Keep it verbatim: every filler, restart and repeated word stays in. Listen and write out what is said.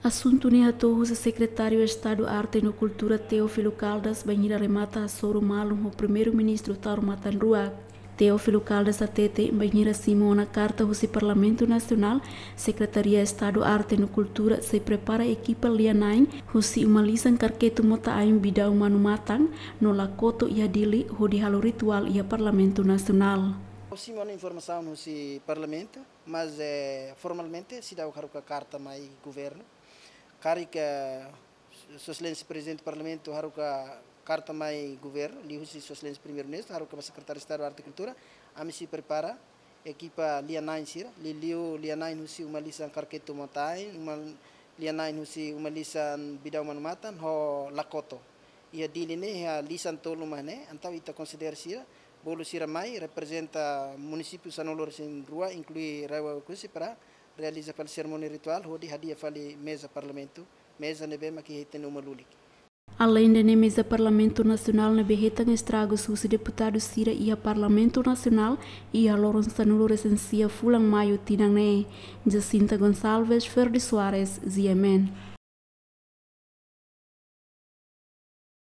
Asuntu ne'e hato'o husi Sekretáriu Estadu Arte no Kultura Teófilo Caldas bainhira remata hasoru malu ho Primeiru-Ministru Taur Matan Ruak. Teófilo Caldas hatete bainhira simu ona karta husi Parlamentu Nasionál, Sekretaria Estadu Arte no Kultura sei prepara ekipa lia-na'in husi uma lisan Karketu Mota Ain Bidau Manu Matan no Lakoto iha Dili hodi halo rituál iha Parlamentu Nasionál. Simu ona informasaun husi Parlamentu, mas, eh, formalmente seidauk haruka karta mai governu. Karik, eh, Sua Exelénsia Prezidente Parlamentu haruka karta mai governu, liuhusi Sua Exelénsia Primeiru-Ministru, haruka ba Sekretáriu Estadu Arte Kultura, ami sei prepara ekipa lia-na'in sira, liuliu lia-na'in husi uma lisan Karketu Mota Ain, uma lia-na'in husi uma lisan Bidau Manu Matan, ho Lakoto. Iha Dili ne'e, iha lisan tolu mak ne'e, entaun ita konsidera sira, bolu sira mai, reprezenta munisípiu sanulu-resin-rua, inklui RAEOA Oekusi, para realiza fali serimónia rituál, hodi hadi'a fali meza Parlamentu, meza ne'ebé mak iha ita-nia uma lulik. Aleinde ne'e, meza Parlamentu Nasionál ne'ebé hetan estragus husi deputadu sira iha Parlamentu Nasionál iha loron sanulu-resin-sia fulan Maiu tinan ne'e. Jacinta Gonçalves, Ferdi Soares, G M N.